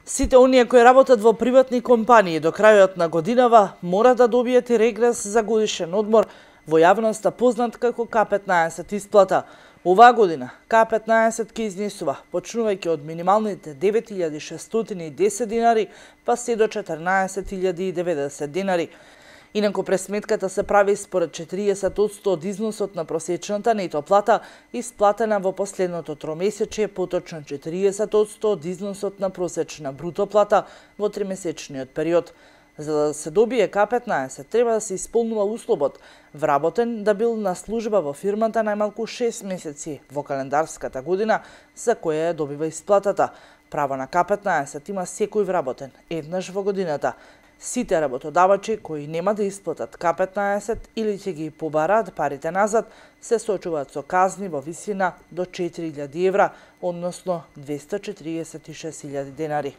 Сите оние кои работат во приватни компании до крајот на годинава мора да добијат и регрес за годишен одмор, во јавноста познат како К15 исплата. Оваа година К15 ќе изнесува, почнувајќи од минималните 9610 динари, па се до 14090 динари. Инаку пресметката се прави според 40% од износот на просечната нето плата, исплатена во последното тромесечие, поточно 40% од износот на просечна бруто плата во тримесечниот период. За да се добие К15, треба да се исполнува условот вработен да бил на служба во фирмата најмалку 6 месеци во календарската година за која ја добива исплатата. Право на К15 има секој вработен еднаш во годината. Сите работодавачи кои нема да исплатат К15 или ќе ги побараат парите назад, се соочуваат со казни во висина до 4000 евра, односно 246.000 денари.